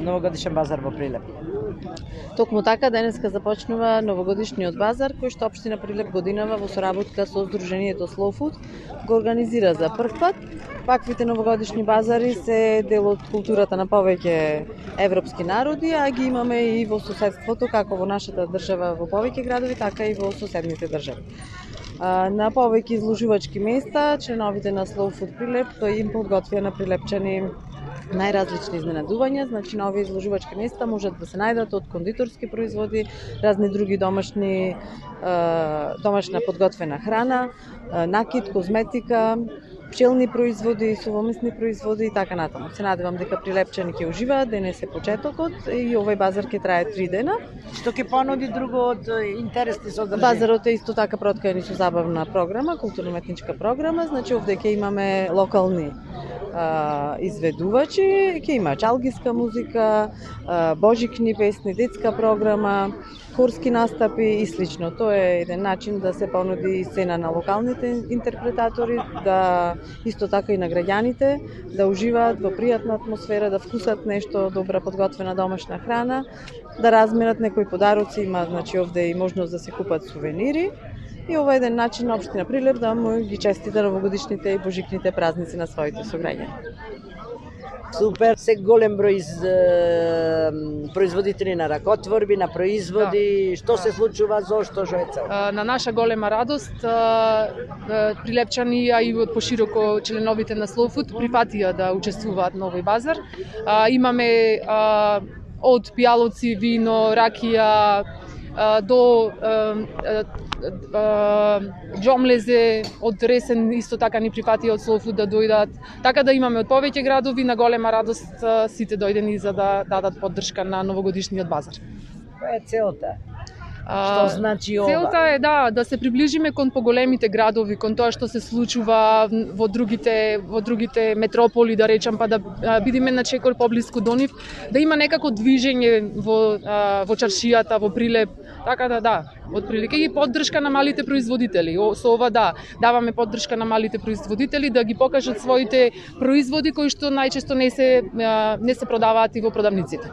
новогодишен базар во Прилеп. Токму така денеска започнува новогодишниот базар кој што општина Прилеп годинава во соработка со Сдруженијето Slow Food го организира за прв пат. Ваквите новогодишни базари се дел од културата на повеќе европски народи, а ги имаме и во соседството, како во нашата држава во повеќе градови, така и во соседните држави. На повеќе изложувачки места, членовите на Slow Food Прилеп им подготвија на прилепчани најразлични изненадувања, значи на овие изложувачки места можат да се најдат од кондиторски производи, разни други домашна подготвена храна, накид, козметика, пчелни производи, сувомесни производи и така натаму. Се надевам дека прилепчани ќе уживаат, денес е почетокот и овој базар ќе трае 3 дена. Што ќе понуди друго од интересни содржини? Базарот е исто така проткаен со забавна програма, културно-уметничка програма, значи овде ќе имаме локални изведувачи, ќе има чалгиска музика, божикни песни, детска програма, хорски настапи и слично. Тоа е еден начин да се понуди сцена на локалните интерпретатори, да исто така и на граѓаните, да уживаат во пријатна атмосфера, да вкусат нешто добра подготвена домашна храна, да разменат некои подароци, има значи овде и можност да се купат сувенири. И ова е еден начин на општина Прилеп да му ги честита новогодишните и божикните празници на своите сограѓани. Супер, се голем број производители на ракотворби, на производи, што се случува, зошто, што е цел? На наша голема радост, прилепчани, а и од пошироко членовите на Slow Food прифатија да учествуваат на овој базар. Имаме од пијалоци, вино, ракија, до џомлезе од Ресен исто така ни прифатија од Slow Food да дојдат. Така да имаме од повеќе градови, на голема радост сите дојдени за да дадат поддршка на новогодишниот базар. Која е целта? Што значи ова? Целта е да се приближиме кон поголемите градови, кон тоа што се случува во другите метрополи, да речам, па да бидеме на чекор поблиску до нив, да има некако движење во чаршијата, во Прилеп, така да, отприлика и поддршка на малите производители. Со ова даваме поддршка на малите производители да ги покажат своите производи кои што најчесто не се продаваат и во продавниците.